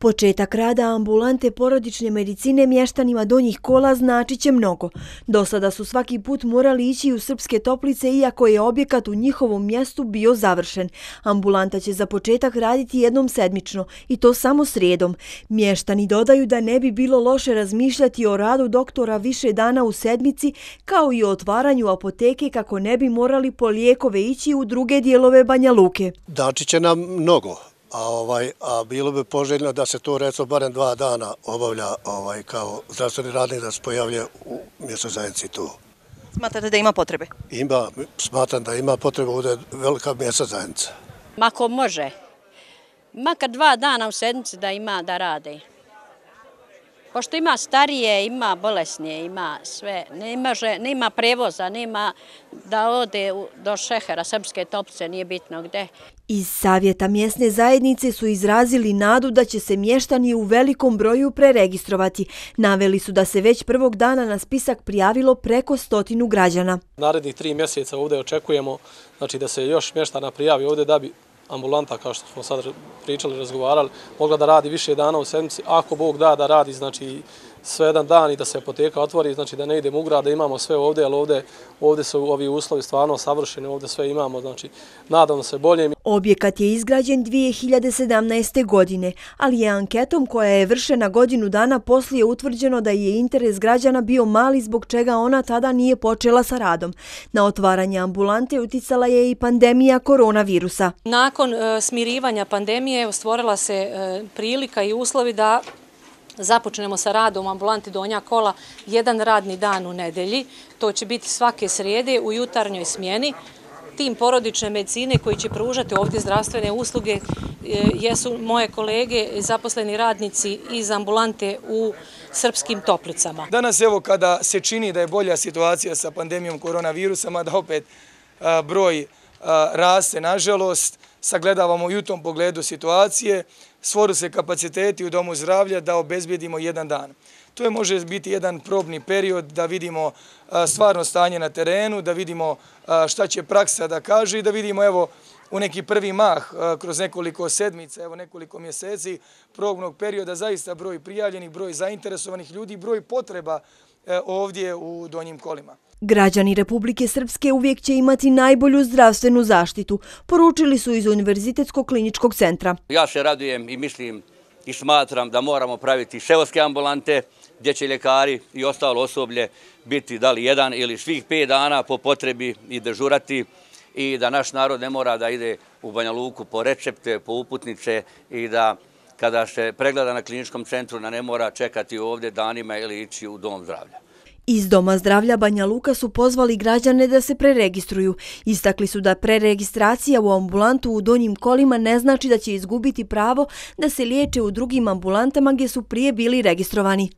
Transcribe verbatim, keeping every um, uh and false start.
Početak rada ambulante porodične medicine mještanima Donjih Kola značit će mnogo. Do sada su svaki put morali ići u Srpske Toplice iako je objekat u njihovom mjestu bio završen. Ambulanta će za početak raditi jednom sedmično i to samo srijedom. Mještani dodaju da ne bi bilo loše razmišljati o radu doktora više dana u sedmici kao i o otvaranju apoteke kako ne bi morali po lijekove ići u druge dijelove Banja Luke. Dači će nam mnogo. A, ovaj, a bilo bi poželjno da se to recimo barem dva dana obavlja ovaj, kao zdravstveni radnik da se pojavlja u mjesnoj zajednici tu. Smatrate da ima potrebe? Ima, smatram da ima potrebe, ovdje je velika mjesna zajednica. Mako može, makar dva dana u sedmici da ima da rade. Pošto ima starije, ima bolesnije, ima sve, nema prevoza, nema da ode do Šehera, Srpske Toplice, nije bitno gde. Iz savjeta mjesne zajednice su izrazili nadu da će se mještani u velikom broju preregistrovati. Naveli su da se već prvog dana na spisak prijavilo preko stotinu građana. Narednih tri mjeseca ovdje očekujemo znači, da se još mještana prijavi ovdje da bi ambulanta, kao što smo sad pričali, razgovarali, mogla da radi više dana u sedmici, ako Bog da da radi znači, sve jedan dan i da se apoteka otvori, znači da ne idemo u grad, da imamo sve ovdje, ali ovdje, ovdje su ovi uslovi stvarno savršeni, ovdje sve imamo, znači nadamo se bolje. Objekat je izgrađen dvije hiljade sedamnaeste. godine, ali je anketom koja je vršena godinu dana poslije utvrđeno da je interes građana bio mali zbog čega ona tada nije počela sa radom. Na otvaranje ambulante uticala je i pandemija koronavirusa. Nakon e, smirivanja pandemije stvorila se e, prilika i uslovi da započnemo sa radom u ambulanti Donja Kola jedan radni dan u nedelji. To će biti svake srijede u jutarnjoj smjeni. Tim porodične medicine koji će pružati ovdje zdravstvene usluge jesu moje kolege, zaposleni radnici iz ambulante u Srpskim Toplicama. Danas evo kada se čini da je bolja situacija sa pandemijom koronavirusa, da opet a, broj a, raste, nažalost, sagledavamo i u tom pogledu situacije, stvoru se kapaciteti u domu zdravlja da obezbijedimo jedan dan. To je može biti jedan probni period da vidimo stvarno stanje na terenu, da vidimo šta će praksa da kaže i da vidimo evo u neki prvi mah kroz nekoliko sedmica, evo nekoliko mjeseci probnog perioda zaista broj prijavljenih, broj zainteresovanih ljudi, broj potreba ovdje u Donjim Kolima. Građani Republike Srpske uvijek će imati najbolju zdravstvenu zaštitu, poručili su iz Univerzitetskog kliničkog centra. Ja se radujem i mislim i smatram da moramo praviti seoske ambulante gdje će ljekari i ostalo osoblje biti da li jedan ili svih pet dana po potrebi i dežurati i da naš narod ne mora da ide u Banja Luku po recepte, po uputnice i da kada se pregleda na kliničkom centru da ne mora čekati ovdje danima ili ići u dom zdravlja. Iz Doma zdravlja Banja Luka su pozvali građane da se preregistruju. Istakli su da preregistracija u ambulantu u Donjim Kolima ne znači da će izgubiti pravo da se liječe u drugim ambulantama gdje su prije bili registrovani.